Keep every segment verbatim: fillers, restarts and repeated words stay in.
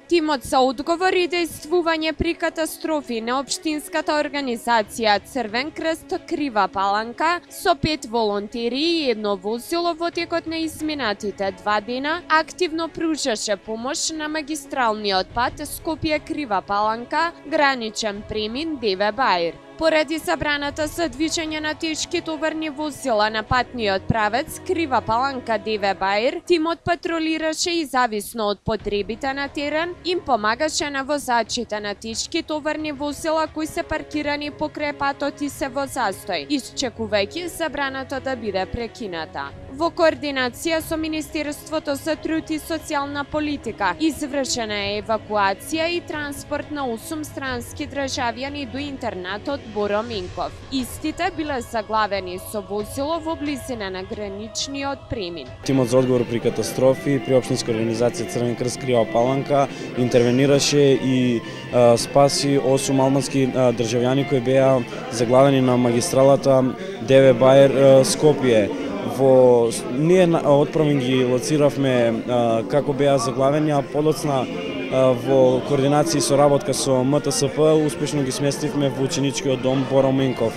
Тимот за одговор и действување при катастрофи на општинската организација Црвен крст Крива Паланка со пет волонтери и едно возило во текот на изминатите два дена активно пружаше помош на магистралниот пат Скопје Крива Паланка, граничен премин Деве Баир. Поради забраната за движење на тешки товарни возила на патниот правец Крива Паланка Деве Баир, тимот патролираше и зависно од потребите на терен, им помагаше на возачите на тешки товарни возила кои се паркирани покрај патот и се во застој, исчекувајќи забраната да биде прекината. Во координација со Министерството за труд и социјална политика извршена е евакуација и транспорт на осум странски државјани до интернатот Боро Минков. Истите биле заглавени со возило во близина на граничниот премин. Тимот за одговор при катастрофи при општинска организација Црвен крст Крива Паланка интервенираше и а, спаси осум албански а, државјани кои беа заглавени на магистралата Деве Баир Скопје. Во ние отправен ги лоциравме а, како беа заглавени, а подоцна а, во координација и соработка со М Т С П успешно ги сместивме во ученичкиот дом Боро Минков.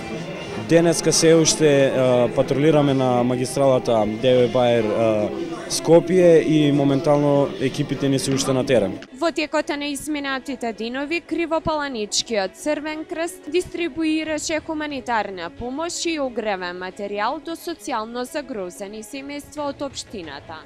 Денеска се уште а, патрулираме на магистралата Деве Баир а, Скопје и моментално екипите ни се уште на терен. Во текот на изминатите денови Кривопаланичкиот Црвен крст дистрибуираше хуманитарна помош и огревен материјал до социјално загрозени семејства од општината.